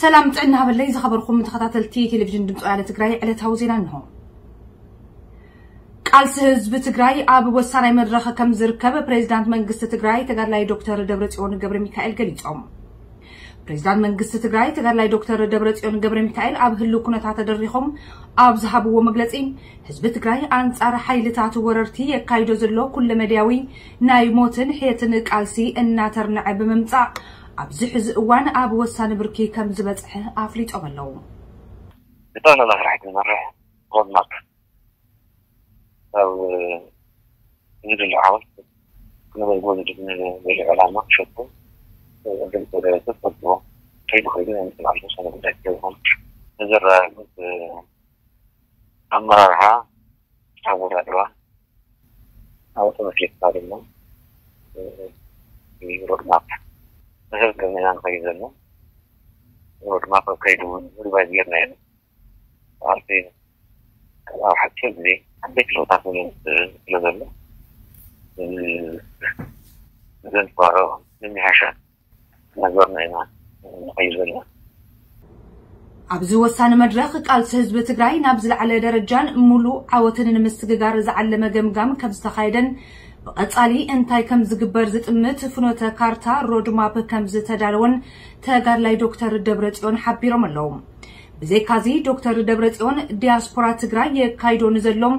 ሰላም ጥዕና ሃበለይ ዝኸበርኩም ተኸታተልቲ ቴሌቪዥን ድምፂ ወያነ ትግራይ፣ ዕለታዊ ዜና እንሆ። ቃልሲ ህዝቢ ትግራይ ኣብ ወሳናይ መድረኽ ከም ዝርከብ ፕሬዚዳንት መንግስቲ ትግራይ ተጋድላይ ዶክተር ደብረፅዮን ገብረ ሚካኤል ገሊፆም። ፕሬዚዳንት መንግስቲ ትግራይ ተጋድላይ ዶክተር ደብረፅዮን ገብረ ሚካኤል ኣብ ህልው ኩነታት ተደሪኾም ኣብ ዝሃብዎ መግለፂ፣ ህዝቢ ትግራይ ኣንፃር ሓይልታት ወረርቲ የካይዶ ዘሎ ኩለመድያዊ ናይ ሞትን ሕየትን ቃልሲ እናተርንዐ ብምምፃእ፣ ኣብዚ ሕዚ እዋን ኣብ ወሳኒ ብርኪ ከም ዝበፅሐ ኣፍሊጦም ኣለዉ። ብጠቕላላ ስራሕ ክንመርሕ ሮድማፕ ኣብ ዝድለ ዓወት ክነበልጎ ዝድል ንዘሎ ዕላማ ክሸቱ ገለ ደረጃ ትፈልጥዎ ከይዱ ከይዱ ናይ ምትልዓል ተወሰነ ጉዳይ ይኸውን። ንዘረጋግጽ ኣመራርሓ ኣወዳድባ ኣብ ተመስሪትካ ድማ ሮድማፕ መሰረት ገርና ንኸይድ ዘሎ ሮድማፕ ኣብ ከይዱ እውን ሪቫይዝ ጌርና ኢና። ኣብቲ ኣብ ሓፂር ግዜ ዓበይቲ ለውጥታት ንምምፃእ ስለ ዘሎ ዘንፅባረቕ ምምሕያሻት እናገበርና ኢና ንኸይድ ዘለና። ኣብዚ ወሳኒ መድረኽ ቃልሲ ህዝቢ ትግራይ ናብ ዝለዓለ ደረጃን ሙሉእ ዓወትን ንምስግጋር ዝዓለመ ገምጋም ከም ዝተኻየደን ብቐፃሊ እንታይ ከም ዝግበር ዝጥምት ፍኖተ ካርታ ሮድማፕ ከም ዝተዳለወን ተጋድላይ ዶክተር ደብረፅዮን ሓቢሮም ኣለዉ። ብዘይካዚ ዶክተር ደብረፅዮን ዲያስፖራ ትግራይ የካይዶ ንዘሎም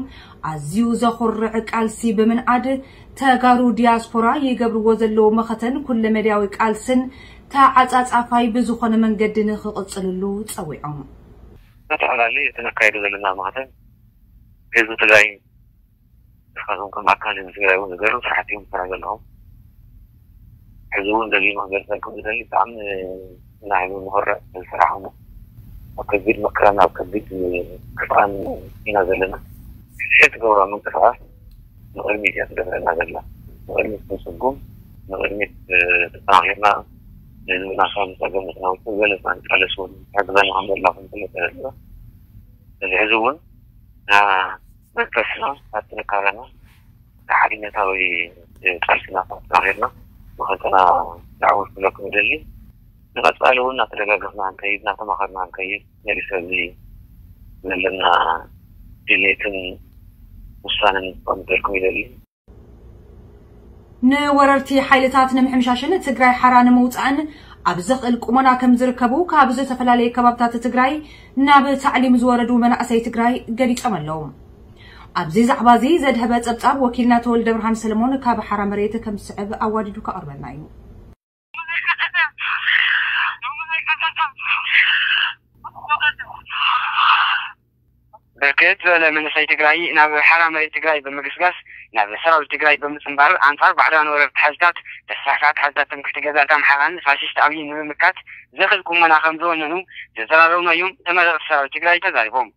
ኣዝዩ ዘኹርዕ ቃልሲ ብምንኣድ ተጋሩ ዲያስፖራ ይገብርዎ ዘለዉ መኸተን ኩለመድያዊ ቃልስን ተዓፃፃፋይ ብዝኾነ መንገዲ ንኽቕፅልሉ ፀዊዖም። በተፈላለዩ እቲ ነካይዶ ዘለና መኸተን ህዝቢ ትግራይ ንስኻትኩም ከም ኣካል ህዝቢ ትግራይ እውን ዝገርም ስራሕቲ እዮም ትሰራ ዘለኹም። ሕዚ እውን ደጊመ ክገልፀልኩም ዝደሊ ብጣዕሚ ንሕና ህዝቢ ንኾርዕ ዝሰራሕኹም ኣብ ከቢድ መከራን ኣብ ከቢድ ክፍኣን ኢና ዘለና። ሕዚ ትገብሮ ምንቅስቃስ ንቕድሚት እያ ትደፍረና ዘላ። ንቕድሚት ክንስጉም ንቕድሚት ተጠናኺርና ንህዝብና ካብ ፀገም ክነውፅእ ዝበለፀ ንቃለስ እውን ትሕግዘና ከም ዘላ ክንፈልጥ ንኽእል ኢና። እዚ ሕዚ እውን መንፈስና ኣብ ጥንካረና ንሓድነታዊ ቃልስና ኣጠናኺርና መኸተና ዳዕወት ክብለኩም ይደሊ። ንቐፃሊ እውን እናተደጋገፍና ክንከይድ እናተማኸርና ክንከይድ መሊሰ እዚ ዘለና ድሌትን ውሳነን ከምገልኩም ይደሊ። ንወረርቲ ሓይልታት ንምሕምሻሽን ትግራይ ሓራ ንምውፃእን ኣብ ዘኽእል ቁመና ከም ዝርከቡ ካብ ዝተፈላለዩ ከባብታት ትግራይ ናብ ታዕሊም ዝወረዱ መናእሰይ ትግራይ ገሊፆም ኣለዉ። ኣብዚ ዛዕባ እዚ ዘድሀበ ፀብፃብ ወኪልና ተወልደ ብርሃን ሰለሞን ካብ ሓራ መሬት ከም ዝስዕብ ኣዋዲዱ ከቕርበልና እዩ። ብርክት ዝበለ መንእሰይ ትግራይ ናብ ሓራ መሬት ትግራይ ብምግስጋስ ናብ ሰራዊት ትግራይ ብምፅንባር ኣንፃር ባዕዳውያን ወረርቲ ሓይልታት ተስፋሕፋሕቲ ሓይልታት ትምክሕቲ ገዛእቲ ኣምሓራን ፋሽስት ኣብይን ንምምካት ዘኽእል ቁመና ከም ዝወነኑ ዘዘራረብናዮም ተመረቕቲ ሰራዊት ትግራይ ተዛሪቦም።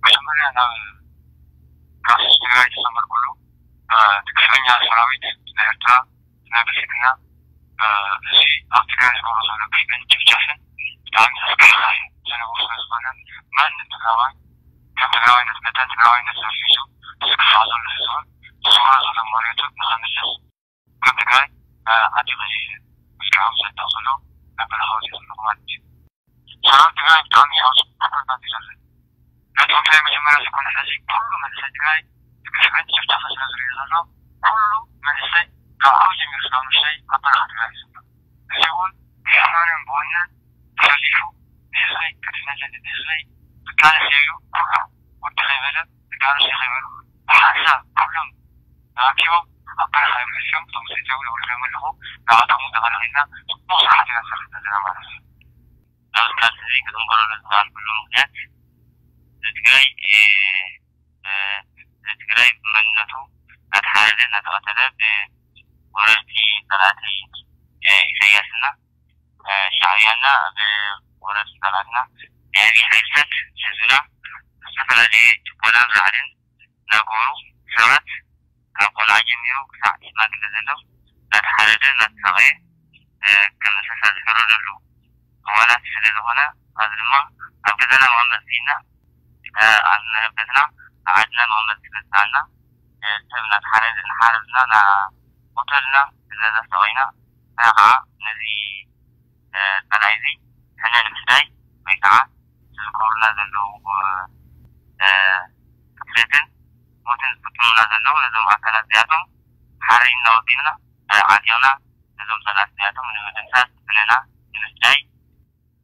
መጀመርያ ናብ ቃልሲ ትግራይ ተሰመርኩሉ እቲ ግፍዐኛ ሰራዊት ናይ ኤርትራ ናይ ብልፅግና እዚ ኣብ ትግራይ ዝገብሮ ዘሎ ግፍዕን ጭፍጨፍን ብጣዕሚ ዘስካሕክሕ ዝነበሩ ስለዝኾነ ማንም ትግራዋይ ከም ትግራዋይነት መጠን ትግራዋይነት ዘፊሱ ዝግፋዕ ዘሎ ህዝብን ዝስውሮ ዘሎ መሬቱ ንኸምልስ ከም ትግራይ ዓዲ ኸዚ መስከረም ዘጣቕስሎ ናይ በረኻ ወፂኡ ዘለኹ ማለት እዩ። ሰራዊት ትግራይ ብጣዕሚ ሕውስ ኩነታት እዩ ዘሎ። ነቶም ናይ መጀመርያ ዝኾነ ሕዚ ኩሉ መንእሰይ ትግራይ ብግፍዕን ጭፍጨፋ ስለ ዝሪኦ ዘሎ ኩሉ መንእሰይ ካብ ዓቢ ጀሚሩ ስጋብ ንእሽተይ ኣብ በረኻ ትግራይ እዩ ዘሎ። እዚ እውን ብሕማምን ብወንን ተሰሊፉ ንህዝበይ ክድሕነለኒ ንህዝበይ ክቃለስ ኢሉ ኩሉ ወዲ ከይበለ ደቂ ኣንስትዮ ከይበሉ ብሓንሳብ ኩሎም ተኣኪቦም ኣብ በረኻ እዮም ሕልፊኦም። እቶም ሰይተው የውርዶም ኣለኹ ንኣቶም እውን ተቐላቒልና ፅቡቕ ስራሕቲ ኢና ንሰርሕ ዘለና ማለት እዩ። ኣብዚ ቃልሲ እዚ ክፅንበረሉ ዝኸኣልኩሉ ምኽንያት ንትግራይ ንትግራይ ብመንነቱ እናተሓረደ እናተቐተለ ብወረርቲ ፀላእቲ ኢሳያስና ሻዕብያና ብወረርቲ ፀላእትና ናይ ኣብይ ሓይልታት ህዝብና ዝተፈላለየ ጭቆናን ራዕድን እናገበሩ ሰባት ካብ ቆልዓ ጀሚሩ ክሳዕ ሽማግለ ዘሎ እናተሓረደ እናተሳቐየ ከም እንስሳ ዝሕረደሉ እዋናት ስለ ዝኾነ፣ ኣብዚ ድማ ኣብ ገዛና መቐመጢ ስኢንና፣ ኣብ መረበትና፣ ኣብ ዓድና መቐመጢ ስለ ዝሰኣንና፣ ሰብ እናተሓረደ፣ እናሓረድና፣ እናቆተልና፣ ገዛ ሰቒልና፣ ንሕና ከዓ ነዚ ጸላኢ እዚ ሕነ ንምፍዳይ ወይ ከዓ ዝዝከሩልና ዘለዉ ክፍለትን ሞትን ዝፍጽሙልና ዘለዉ ነዞም ኣካላት እዚኣቶም ሓሪና ወጺእና ዓጢቕና ነዞም ጸላእቲ እዚኣቶም ንምድምሳስ ሕነና ንምፍዳይ።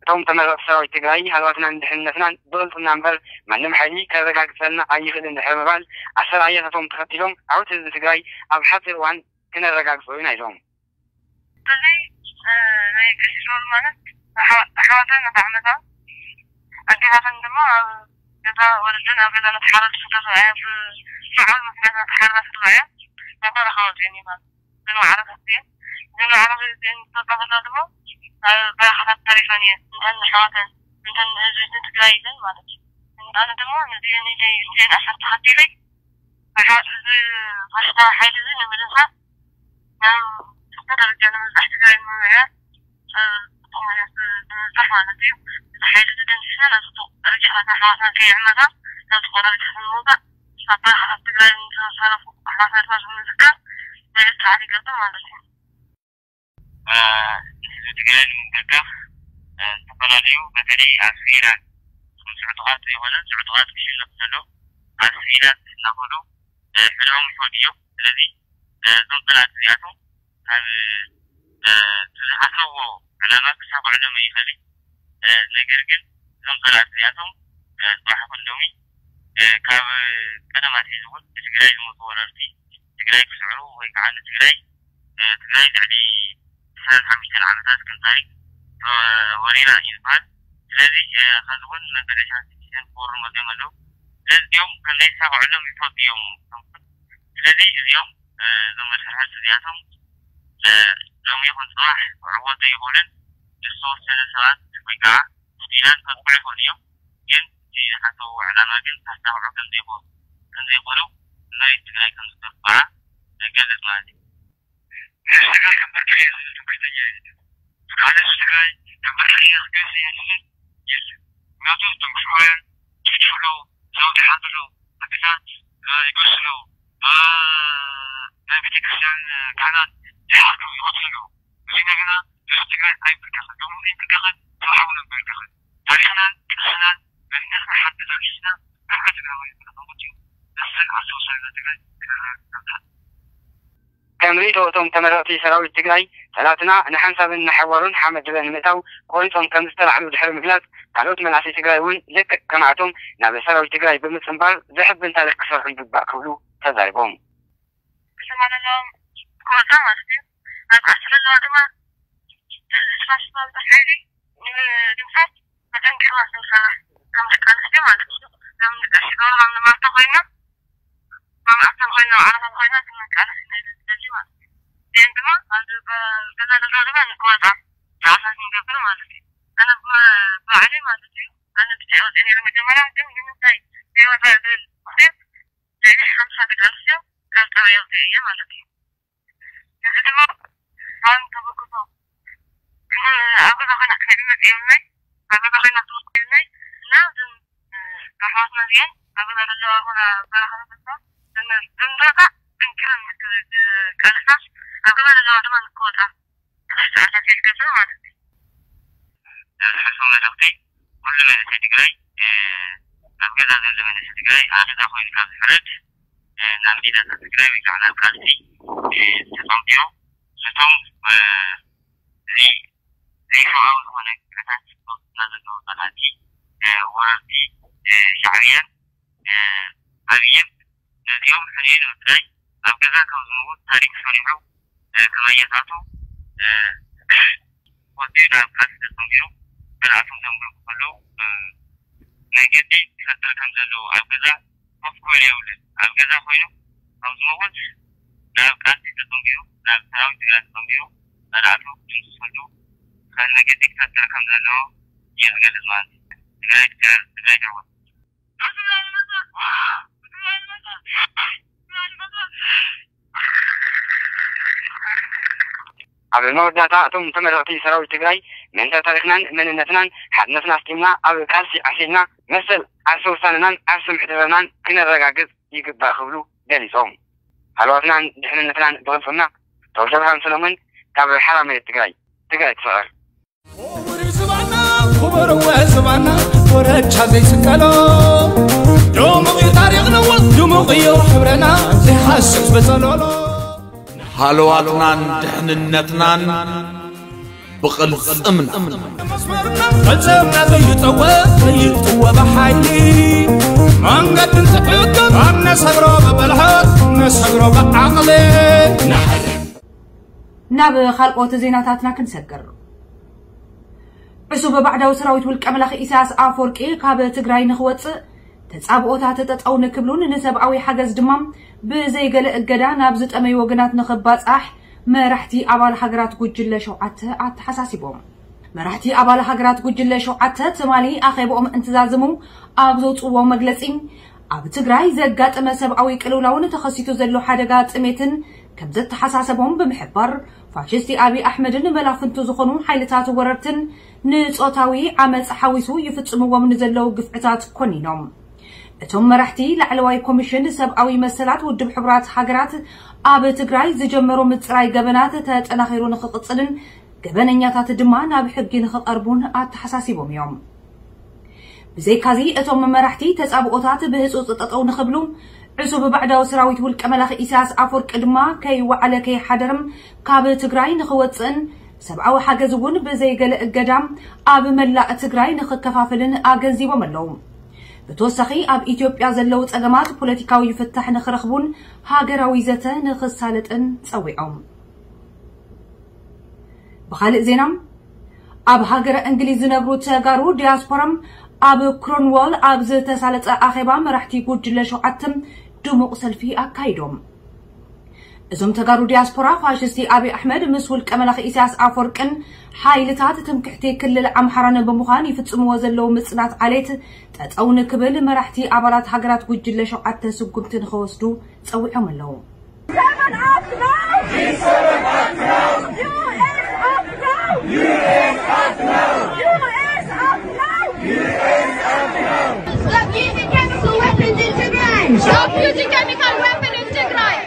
እቶም ተመረቕቲ ሰራዊት ትግራይ ሃለዋትናን ድሕንነትናን ብቕልጽምና እምበር ማንም ሓይሊ ከረጋግጸልና ኣይኽእልን ድሕሪ ምባል ኣሰራርያታቶም ተኸቲሎም ዓወት ህዝቢ ትግራይ ኣብ ሓጺር እዋን ክነረጋግጾ ኢና ኢሎም። እዚ ናይ ቀሲስ ሮል ማለት ኣሕዋተን ነታ ዓመታ ኣዴታተን ድማ ኣብ ገዛ ወለደን ኣብ ገዛ ነተሓረዱ ስደት እያ ብስዑል ምክንያት ነተሓረዳ ስድራ እያ ናታ ረኻወት እየን ይባል ዝንዋዕረፈት እየን ዝንዋዕረፈት እየን ዝተባህላ ድማ ኣብ በረኻታት ተሪፈን እየን እንተን ኣሕዋተን እንተን ህዝቢ ትግራይ ኢለን ማለት እዩ ኣነ ድማ ንዚአን ኢለይ እዚአን ኣሰር ተኸቲለይ እዚ ፋሽስታዊ ሓይሊ እዚ ንምድምሳስ ናብ ትሕቲ ደረጃ ንምብፃሕ ትግራይ ንምምዕያር ብምብፃሕ ማለት እዩ። እዚ ሓይሊ እዚ ደምሲስና ናብ ፅቡቕ ደረጃታት ኣሕዋትና ከይዕመታ ናብ ፅቡቕ ደረጃ ንምውፃእ ኣብ በረኻታት ትግራይ ንዝተሳረፉ ኣሕዋትና ድማ ብምዝካር መልእኽቲ ይገብር ማለት እዩ። ንህዝቢ ትግራይ ንምንቅልቃፍ ዝተፈላለዩ በተለይ ኣብ ስቪላን ስዑጡቓት ዘይኮነ ስዑጡቓት ክሽለፉ ዘለዉ ኣብ ስቪላን እናኸዱ ሕድሮም ይፈልጡ እዮም። ስለዚ እዞም ጸላእቲ እዚኣቶም ካብ ዝሓሰብዎ ዕላማ ክሳኽዑሎም ይኽእል እዩ። ነገር ግን እዞም ጸላእቲ እዚኣቶም ጽባሕ ክንዶሚ ካብ ቀደም ኣትሒዙ እውን ንትግራይ ዝመፁ ወረርቲ ትግራይ ክስዕሩ ወይ ከዓ ንትግራይ ትግራይ ልዕሊ ሰላሳ ሓሙሽተ ዓመታት ከም ታሪክ ወሪራ እዩ ዝበሃል። ስለዚ ሕዚ እውን መበገሻ ሲቲዘን ክወሩ መፅኦም ኣለዉ። ስለዚ እዚኦም ከም ዘይሳኽዑሎም ይፈልጡ እዮም። ስለዚ እዚኦም እዞም መድሕርሕርቲ እዚኣቶም ሎሚ ይኹን ፅባሕ ክዕወቱ ይኽእሉን ምስ ተወሰነ ሰባት ወይ ከዓ ስቲላን ከጥቅዑ ይኽእሉ እዮም። ግን እቲ ዝሓሰብዎ ዕላማ ግን ከሳኽዑ ከም ዘይኽእሉ ከም ዘይኽእሉ መሬት ትግራይ ከም ዝገባዓ ገልፅ ማለት እዩ። ህዝቢ ትግራይ ከም በርትዕ እዩ ዝብል ትምክሕተኛ የለን። ካልእ ህዝቢ ትግራይ ከም በርትዕ እዩ ክገዝእ እየ ዝብል የለን። ምክንያቱ እቶም ሽዑያን ይጭፍጭፉ ኣለዉ፣ ገዛውቲ ይሓርዱ ኣለዉ፣ ዓድታት ይገዝኡ ኣለዉ፣ ናይ ቤተክርስትያን ካህናት ይሓርዱ ይቐትሉ ኣለዉ። እዚ እንደገና ህዝቢ ትግራይ ኣይምብርከኽን፣ ሎሚ እውን ኣይምብርከኽን፣ ጽባሕ እውን ኣይምብርከኽን። ታሪኽናን ቅርስናን መንነትና ሓንቲ ተበጊስና ንሕና ትግራዋይ ንብለኹም እዩ። መሰል ዓርሰ ውሳኔና ትግራይ ክነረጋግጽ ኣለና። ከም ርእይቶ እቶም ተመረቕቲ ሰራዊት ትግራይ፣ ጸላእትና ንሓንሳብን ንሓዋሩን ሓመድ ድበ ንምእታው ቆሪጾም ከም ዝተላዕሉ ድሕሪ ምግላጽ፣ ካልኦት መናእሰይ ትግራይ እውን ልክዕ ከማእቶም ናብ ሰራዊት ትግራይ ብምጽንባር ዘሕብን ታሪኽ ክሰርሑ ይግባእ ክብሉ ተዛሪቦም። ከተማ ዘለዎም ክወጻ ማለት እዩ። ኣብ ዓዲ ዘለዋ ድማ ዝፋሽስታዊ ሓይሊ ንምድምሳስ ኣጠንኪርና ክንሰርሕ ከም ደቂ ኣንስትዮ ማለት እዩ። ከም ደቂ ኣንስትዮ ከም ንማርታ ኮይና፣ ከም ኣክተር ኮይና፣ ዓለታት ኮይና ክንቃለስ ኢና ዝደሊ ማለት እዩ። እዚአን ድማ ኣብ ገዛ ዘለዋ ድማ ንክወጻ ዳዕሳ ክንገብር ማለት እዩ። ኣነ ብባዕለይ ማለት እዩ። ኣነ ብቻ ወፂአ ነይረ መጀመርያ፣ ግን ንምንታይ ዘይወፃ ዝብል ምክንያት ልዕሊ ሓምሳ ደቂ ኣንስትዮ ካብ ጣብያ ኣውፂኤ እየ ማለት እዩ። እዚ ድማ ኣን ተበግሶ ኣብ ገዛ ኮይና ክነዕመፅ የብልናይ፣ ኣብ ገዛ ኮይና ክመፅ የብልናይ እና እዞም ኣሕዋትና እዚአን ኣብ ገዛ ዘለዋ ኮና በረኻ ተፈታ ዝምረፃ ጥንክረን ቃልሳ ኣብ ገዛ ዘለዋ ድማ ንክወፃ ዝሓልፎ መልእኽቲ ኩሉ መንእሰይ ትግራይ ኣብ ገዛ ዘሎ መንእሰይ ትግራይ ኣደዳ ኮይኑ ካብ ዝሕረድ ናብ ሜዳታት ትግራይ ወይ ከዓ ናብ ቃልሲ ተፀንቢሩ ነቶም ዘይሰብኣዊ ዝኾነ ግፍዕታት ዝፈፅሙና ዘለዉ ፀላእቲ ወረርቲ ሻዕብያን ኣብይን ነዚኦም ሕንዮ ንምፍዳይ ኣብ ገዛ ከም ዝመውት ታሪክ ሰሪሑ ከመየታቱ ወፂኡ ናብ ቃልሲ ተፀንቢሩ ጸላእቶም ዘንብሩ ከለዉ መገዲ ይፈጥር ከም ዘለዎ ኣብ ገዛ ኮፍ ክብል የብሉን። ኣብ ገዛ ኮይኑ ካብ ዝመውት ናብ ቃልሲ ተፀንቢሩ ናብ ሰራዊት ትግራይ ተፀንቢሩ ጸላእቱ ክድምስሰሉ ዝኽእል መገዲ ክፈጥር ከም ዘለዎ እየ ዝገልፅ ማለት እዩ። ትግራይ ትስዕር፣ ትግራይ ትዕወት። ኣብ መወዳእታ እቶም ተመረቕቲ ሰራዊት ትግራይ ምእንተ ታሪኽናን መንነትናን ሓድነትና ኣስጢምና ኣብ ቃልሲ ዓሲልና መሰል ዓርሰ ውሳነናን ዓርሰ ምሕደራናን ክነረጋግጽ ይግባእ ክብሉ ገሊጾም። ሃለዋትናን ድሕንነትናን ብቕልጽምና። ተወልደብርሃን ሰሎሞን ካብ ሓራ መሬት ትግራይ። ትግራይ ትፍቕር። ክቡር ዝባና ክቡር ዝባና ኮረቻ ዘይስቀሎ ድሙቕ እዩ ታሪኽና ድሙቕ እዩ ሕብረና ዘይሃስስ በጸሎሎ ሃለዋትናን ድሕንነትናን ብቕልጽምና። መስመርና ፈጸምና ዘይጠወ ዘይጥወ ብሓይሊ መንገድን ትዕቅብ ኣብ ነሰግሮ ብብልሃት ነሰግሮ ብዓቕሊ ናብ ካልኦት ዜናታትና ክንሰግር። ዕሱብ ባዕዳዊ ሰራዊት ውልቀ መላኺ ኢሳያስ ኣፈወርቂ ካብ ትግራይ ንኽወፅእ ተፃብኦታት ጠጠው ንክብሉን ንሰብኣዊ ሓገዝ ድማ ብዘይገለ እገዳ ናብ ዝጠመዩ ወገናት ንኽባፃሕ መራሕቲ ኣባል ሃገራት ጉጅለ ሸውዓተ ኣተሓሳሲቦም። መራሕቲ ኣባል ሃገራት ጉጅለ ሸውዓተ ትማሊ ኣኼብኦም እንትዛዝሙ ኣብ ዘውፅዎ መግለፂ ኣብ ትግራይ ዘጋጠመ ሰብኣዊ ቅልውላውን ተኸሲቱ ዘሎ ሓደጋ ጥሜትን ከም ዘተሓሳሰቦም ብምሕባር ፋሽስቲ ኣብይ ኣሕመድን መላፍንቱ ዝኾኑ ሓይልታት ወረርትን ንፆታዊ ዓመፅ ሓዊሱ ይፍፅምዎም ንዘለዉ ግፍዕታት ኮኒኖም። እቶም መራሕቲ ላዕለዋይ ኮሚሽን ሰብኣዊ መሰላት ውድብ ሕቡራት ሃገራት ኣብ ትግራይ ዝጀመሮ ምፅራይ ገበናት ተጠናኺሩ ንኽቕፅልን ገበነኛታት ድማ ናብ ሕጊ ንኽቐርቡን ኣተሓሳሲቦም እዮም። ብዘይካዚ እቶም መራሕቲ ተፃብኦታት ብህፁፅ ጠጠው ንኽብሉ ዕሱብ ባዕዳዊ ሰራዊት ውልቀ መላኺ ኢሳያስ ኣፈወርቂ ድማ ከይወዓለ ከይሓደርም ካብ ትግራይ ንኽወፅእን ሰብኣዊ ሓገዝ እውን ብዘይገለ እገዳ ኣብ መላእ ትግራይ ንኽከፋፍልን ኣገንዚቦም ኣለዉ። ብተወሳኺ ኣብ ኢትዮጵያ ዘለዉ ፀገማት ፖለቲካዊ ፍታሕ ንኽረኽቡን ሃገራዊ ዘተ ንኽሳለጥን ፀዊዖም። ብኻልእ ዜና ኣብ ሃገረ እንግሊዝ ዝነብሩ ተጋሩ ዲያስፖራ ኣብ ክሮንዋል ኣብ ዝተሳለጠ ኣኼባ መራሕቲ ጉጅለ ሸውዓተ ድሙቕ ሰልፊ ኣካይዶም። እዞም ተጋሩ ዲያስፖራ ፋሽስቲ ኣብይ ኣሕመድ ምስ ውልቀ መላኺ ኢሳያስ ኣፈወርቅን ሓይልታት ትምክሕቲ ክልል ኣምሓራን ብምዃን ይፍጽምዎ ዘለዉ ምጽናት ዓሌት ጠጠው ንክብል መራሕቲ ኣባላት ሃገራት ጉጅለ ሸውዓተ ስጉምቲ ንኸወስዱ ጸዊዖም ኣለዉ። Stop using chemical weapons in Tigray! Stop using chemical weapon in Tigray!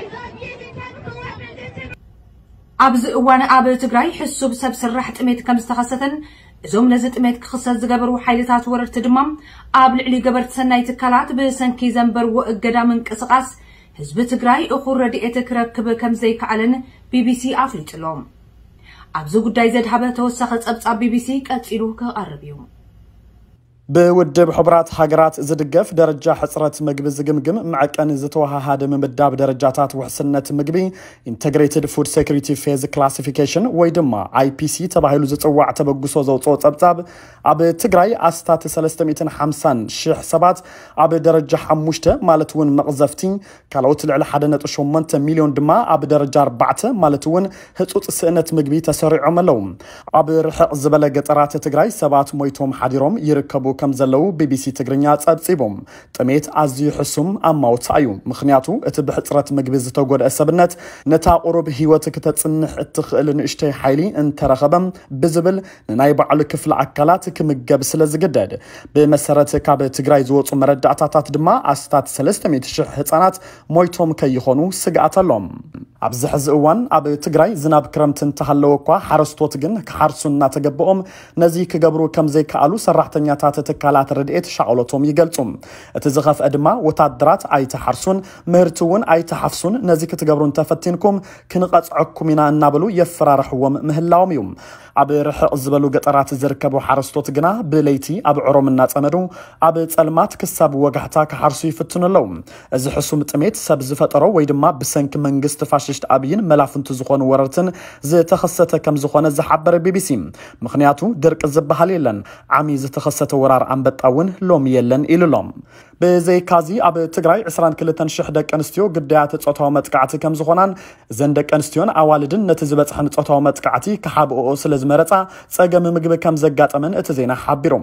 ኣብዚ እዋን ኣብ ትግራይ ሕሱብ ሰብ ስራሕ ጥሜት ከም ዝተኸሰተን እዞም ነዚ ጥሜት ክኽሰት ዝገበሩ ሓይልታት ወረርቲ ድማ ኣብ ልዕሊ ገበርቲ ሰናይ ትካላት ብሰንኪ ዘንበርዎ እገዳ ምንቅስቓስ ህዝቢ ትግራይ እኹል ረድኤት ክረክብ ከም ዘይከኣለን ቢቢሲ ኣፍሊጡ ኣሎ። ኣብዚ ጉዳይ ዘድሃበ ተወሳኺ ጸብጻብ ቢቢሲ ቀጺሉ ክቐርብ እዩ። ብውድብ ሕቡራት ሃገራት ዝድገፍ ደረጃ ሕፅረት ምግቢ ዝግምግም መዐቀኒ ዝተወሃሃደ ምምዳብ ደረጃታት ውሕስነት ምግቢ Integrated Food Security Phase Classification ወይ ድማ ኣይፒሲ ተባሂሉ ዝፅዋዕ ተበግሶ ዘውፅኦ ፀብፃብ ኣብ ትግራይ ኣስታት ሰለስተ ሚእትን ሓምሳን ሽሕ ሰባት ኣብ ደረጃ ሓሙሽተ ማለት እውን መቕዘፍቲ ካልኦት ልዕሊ ሓደ ነጥቢ ሸሞንተ ሚልዮን ድማ ኣብ ደረጃ ኣርባዕተ ማለት እውን ህጹጽ ስእነት ምግቢ ተሰሪዖም ኣለዉ። ኣብ ርሕቕ ዝበለ ገጠራት ትግራይ ሰባት ሞይቶም ሓዲሮም ይርከቡ ከም ዘለዉ ቢቢሲ ትግርኛ ጸብጺቡ። ጥሜት ኣዝዩ ሕሱም ኣማውታ እዩ፣ ምኽንያቱ እቲ ብሕጽረት ምግቢ ዝተጎድአ ሰብነት ነታ ቁሩብ ህይወት ክተጽንሕ እትኽእል ንእሽተይ ሓይሊ እንተረኸበ ብዝብል ንናይ ባዕሉ ክፍሊ ኣካላት ክምገብ ስለ ዝግደድ። ብመሰረት ካብ ትግራይ ዝወፁ መረዳእታታት ድማ ኣስታት ሰለስተ ሚእቲ ሽሕ ህፃናት ሞይቶም ከይኾኑ ስግኣት ኣሎ። ኣብዚ ሕዚ እዋን ኣብ ትግራይ ዝናብ ክረምቲ እንተሃለወ እኳ ሓረስቶት ግን ክሓርሱ እናተገበኦም ነዚ ክገብሩ ከም ዘይከኣሉ ሰራሕተኛታት ትካላት ረድኤት ሻቕሎቶም ይገልፁ። እቲ ዝኸፍአ ድማ ወታደራት ኣይተሓርሱን ምህርቲ እውን ኣይተሓፍሱን፣ ነዚ ክትገብሩ እንተፈቲንኩም ክንቐፅዐኩም ኢና እናበሉ የፈራርሕዎም ምህላዎም እዩ። ኣብ ርሕቕ ዝበሉ ገጠራት ዝርከቡ ሓረስቶት ግና ብለይቲ ኣብ ዕሮም እናጸመዱ ኣብ ጸልማት ክሳብ ወጋሕታ ክሓርሱ ይፍትኑ ኣለዉ። እዚ ሕሱም ጥሜት ሰብ ዝፈጠሮ ወይ ድማ ብሰንኪ መንግስቲ ፋሽስት ኣብይን መላፍንቱ ዝኾኑ ወረርትን ዝተኸሰተ ከም ዝኾነ ዝሓበረ ቢቢሲ፣ ምኽንያቱ ድርቂ ዝበሃል የለን። ዓሚ ዝተኸሰተ ወራር ዛር ኣንበጣ እውን ሎሚ የለን ኢሉ ኣሎ። ብዘይካዚ ኣብ ትግራይ ዕስራን ክልተን ሽሕ ደቂ ኣንስትዮ ግዳያት ጾታዊ መጥቃዕቲ ከም ዝኾናን እዘን ደቂ ኣንስትዮን ኣዋልድን ነቲ ዝበፅሐን ጾታዊ መጥቃዕቲ ክሓብኦኦ ስለ ዝመረፃ ጸገም ምግቢ ከም ዘጋጠመን እቲ ዜና ሓቢሩ።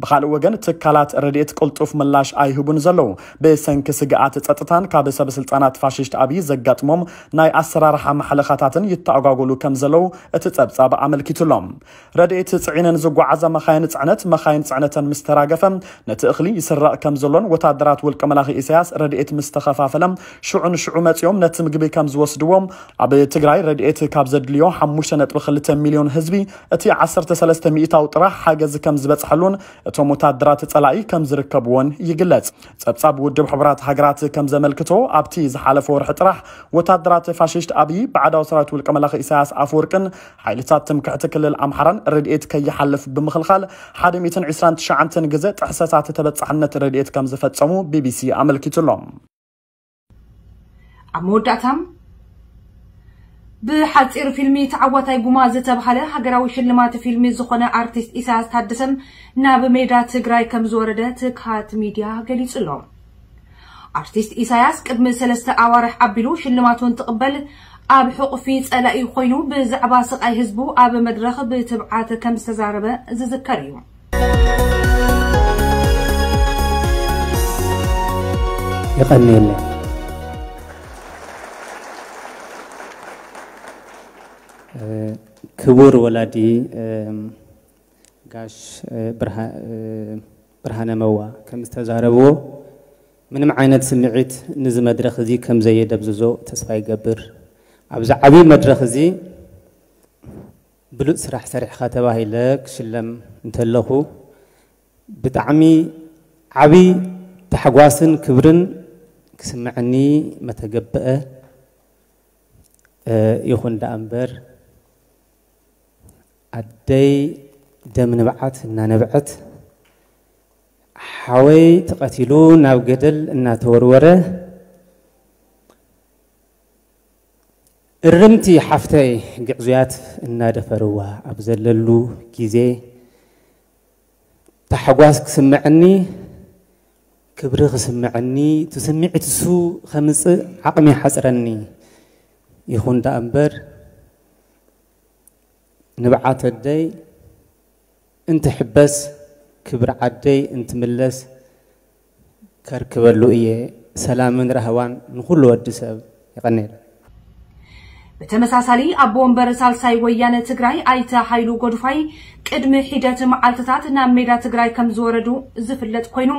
ብኻልእ ወገን ትካላት ረድኤት ቅልጡፍ ምላሽ ኣይህቡን ዘለዉ። ብሰንኪ ስግኣት ጸጥታን ካብ ሰበ ስልጣናት ፋሽስት ኣብይ ዘጋጥሞም ናይ ኣሰራርሓ ማሕለኻታትን ይተኣጓጎሉ ከም ዘለዉ እቲ ጸብጻብ ኣመልኪቱ ኣሎ። ረድኤት ጽዒነን ዝጓዓዛ መኻይን ጽዕነት፣ መኻይን ጽዕነተን ምስ ተራገፈ፣ ነቲ እኽሊ ይስረቕ ከም ዘሎን ወታደራት ውልቀ መላኺ ኢሳያስ ረድኤት ምስ ተኸፋፈለ፣ ሽዑ ንሽዑ መጺኦም ነቲ ምግቢ ከም ዝወስድዎ፣ ኣብ ትግራይ ረድኤት ካብ ዘድልዮ ሓሙሽተ ነጥቢ ክልተ ሚልዮን ህዝቢ፣ እቲ ዓሰርተ ሰለስተ ሚእታዊ ጥራሕ ሓገዝ ከም ዝበጽሐሉን እቶም ወታደራት ጸላኢ ከም ዝርከብዎን ይግለጽ። ጸብጻብ ውድብ ሕቡራት ሃገራት ከም ዘመልክቶ፣ ኣብቲ ዝሓለፈ ወርሒ ጥራሕ ወታደራት ፋሽስት ኣብይ፣ ባዕዳዊ ሰራዊት ውልቀ መላኺ ኢሳያስ ኣፈወርቅን ሓይልታት ትምክሕቲ ክልል ኣምሓራን ረድኤት ከይሓልፍ ብምኽልኻል፣ ሓደ ሚእትን ዕስራን ትሽዓተን ግዜ ጥሕሰታት ተበጻሕነት ረድኤት ከም ዝፈጸሙ ቢቢሲ ኣመልኪቱ ኣሎ። ኣብ መወዳእታ፣ ብሓጺር ፊልሚ ተዓዋታይ ጉማ ዝተባህለ ሃገራዊ ሽልማት ፊልሚ ዝኾነ ኣርቲስት ኢሳያስ ታደሰ ናብ ሜዳ ትግራይ ከም ዝወረደ ትግሃት ሚድያ ገሊጹ ኣሎ። ኣርቲስት ኢሳያስ ቅድሚ ሰለስተ ኣዋርሕ ኣቢሉ ሽልማቱ እንትቕበል፣ ኣብ ሕቑፊ ጸላኢ ኮይኑ ብዛዕባ ስቓይ ህዝቡ ኣብ መድረኽ ብትብዓት ከም ዝተዛረበ ዝዝከር እዩ። የቐንየለይ። ክቡር ወላዲ ጋሽ ብርሃነ መዋ ከም ዝተዛረብዎ፣ ምንም ዓይነት ስምዒት ንዚ መድረኽ እዚ ከም ዘየደብዝዞ ተስፋ ይገብር። ኣብዚ ዓብዪ መድረኽ እዚ ብሉጽ ስራሕ ሰሪሕኻ ተባሂለ ክሽለም እንተለኹ፣ ብጣዕሚ ዓብዪ ታሕጓስን ክብርን ክስምዐኒ መተገብአ። ይኹን ደኣ እምበር፣ ኣደይ ደም ንብዓት እናነብዐት፣ ሓወይ ተቐቲሉ ናብ ገደል እናተወርወረ፣ እርምቲ ሓፍተይ ግዕዙያት እናደፈርዋ ኣብ ዘለሉ ግዜ፣ ታሕጓስ ክስምዐኒ፣ ክብሪ ክስምዐኒ፣ እቲ ስምዒት እሱ ከምጽእ ዓቕሚ ይሓጽረኒ። ይኹን ደኣ እምበር፣ ንብዓት ኣደይ እንትሕበስ፣ ክብሪ ዓደይ እንትምለስ ከርክበሉ እየ። ሰላምን ራህዋን ንኹሉ ወዲ ሰብ። የቐንየለይ። ብተመሳሳሊ፣ ኣቦ ወንበር ሳልሳይ ወያነ ትግራይ ኣይተ ሃይሉ ጎድፋይ ቅድሚ ሒደት መዓልትታት ናብ ሜዳ ትግራይ ከም ዝወረዱ ዝፍለጥ ኮይኑ፣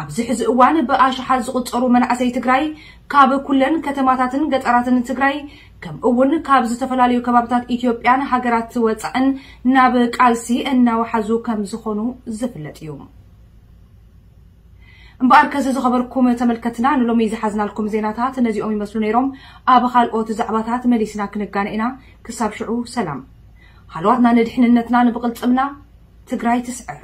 ኣብዚ ሕዚ እዋን ብኣሽሓት ዝቑጸሩ መናእሰይ ትግራይ ካብ ኩለን ከተማታትን ገጠራትን ትግራይ፣ ከምኡ እውን ካብ ዝተፈላለዩ ከባብታት ኢትዮጵያን ሃገራት ወፃእን ናብ ቃልሲ እናወሓዙ ከም ዝኾኑ ዝፍለጥ እዩ። እምበኣርከስ ዝኸበርኩም ተመልከትና፣ ንሎሚ ዝሓዝናልኩም ዜናታት ነዚኦም ይመስሉ ነይሮም። ኣብ ካልኦት ዛዕባታት መሊስና ክንጋነ ኢና። ክሳብ ሽዑ ሰላም። ሃለዋትና ንድሕንነትና ንብቕልፅምና። ትግራይ ትስዕር።